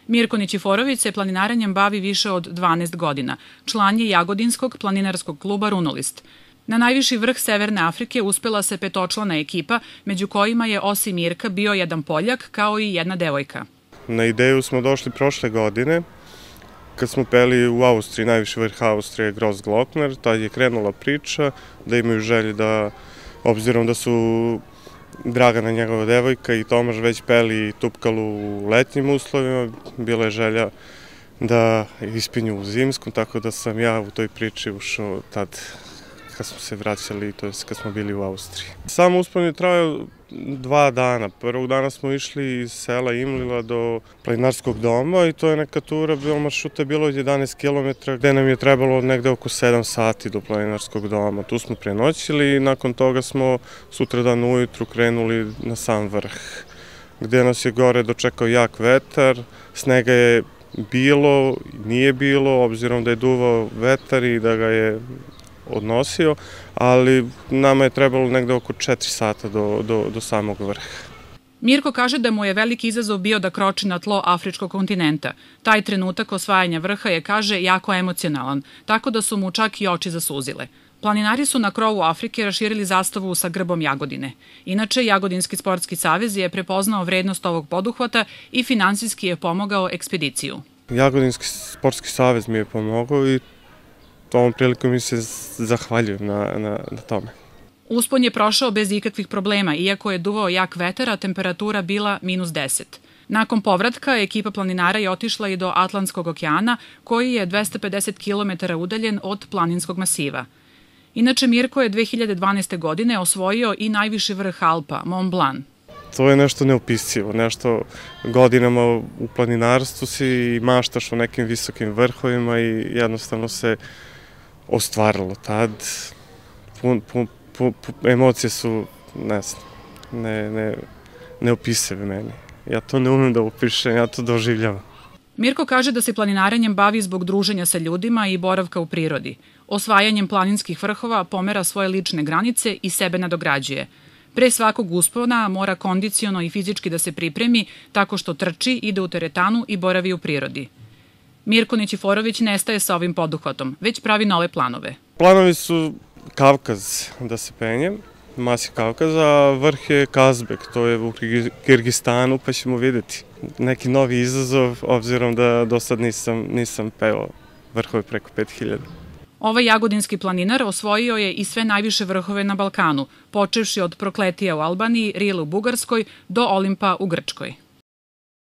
Mirko Nićiforović se planinarenjem bavi više od 12 godina. Član je Jagodinskog planinarskog kluba Runolist. Na najviši vrh Severne Afrike uspela se petočlana ekipa, među kojima je osim Mirka bio jedan Poljak kao i jedna devojka. Na ideju smo došli prošle godine, kad smo peli u Austriji, najviši vrh Austrije, Grossglockner. Tad je krenula priča da imaju želje da, obzirom da su Dragana, njegova devojka, i Tomaš već peli Tupkalu u letnjim uslovima, bila je želja da ispinju u zimskom, tako da sam ja u toj priči ušao tad kad smo se vraćali, to je kad smo bili u Austriji. Sam uspon je trajao 2 dana. Prvog dana smo išli iz sela Imlila do planinarskog doma i to je neka tura, maršruta je bilo od 11 km, gde nam je trebalo negde oko 7 sati do planinarskog doma. Tu smo prenoćili i nakon toga smo sutradan ujutru krenuli na sam vrh, gde nas je gore dočekao jak vetar, snega je bilo, nije bilo, obzirom da je duvao vetar i da ga je odnosio, ali nama je trebalo negde oko 4 sata do samog vrha. Mirko kaže da mu je veliki izazov bio da kroči na tlo afričkog kontinenta. Taj trenutak osvajanja vrha je, kaže, jako emocionalan, tako da su mu čak i oči zasuzile. Planinari su na krovu Afrike raširili zastavu sa grbom Jagodine. Inače, Jagodinski sportski savez je prepoznao vrednost ovog poduhvata i finansijski je pomogao ekspediciju. Jagodinski sportski savez mi je pomogao i ovom prilikom mi se zahvaljujem na tome. Uspon je prošao bez ikakvih problema, iako je duvao jak vetar, a temperatura bila -10. Nakon povratka, ekipa planinara je otišla i do Atlantskog okeana, koji je 250 km udaljen od planinskog masiva. Inače, Mirko je 2012. godine osvojio i najviši vrh Alpa, Mont Blanc. To je nešto neopisivo, nešto godinama u planinarstvu si maštaš o nekim visokim vrhovima i jednostavno se ostvarilo tad. Emocije su, ne znam, neopisive meni. Ja to ne umem da opišem, ja to doživljavam. Mirko kaže da se planinarenjem bavi zbog druženja sa ljudima i boravka u prirodi. Osvajanjem planinskih vrhova pomera svoje lične granice i sebe nadograđuje. Pre svakog uspona mora kondiciono i fizički da se pripremi tako što trči, ide u teretanu i boravi u prirodi. Mirko Nićiforović ne staje sa ovim poduhvatom, već pravi nove planove. Planovi su Kavkaz da se penjem, masi Kavkaza, a vrh je Kazbek, to je u Kirgistanu, pa ćemo vidjeti neki novi izazov, obzirom da do sad nisam peo vrhove preko 5000. Ovaj jagodinski planinar osvojio je i sve najviše vrhove na Balkanu, počevši od Prokletija u Albaniji, Rile u Bugarskoj do Olimpa u Grčkoj.